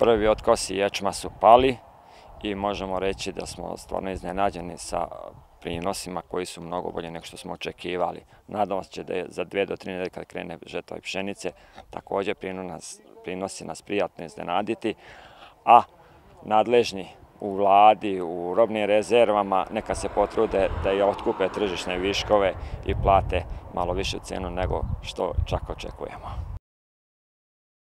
prvi otkosi ječma su pali i možemo reći da smo stvarno iznenađeni sa prinosima koji su mnogo bolji nego što smo očekivali. Nadamo se da je za 2 do 3 nedelje kad krene žetva pšenice također prinosi nas prijatno iznenaditi, a nadležni u vladi, u robnim rezervama neka se potrude da i otkupe tržišne viškove i plate malo višu cijenu nego što čak očekujemo.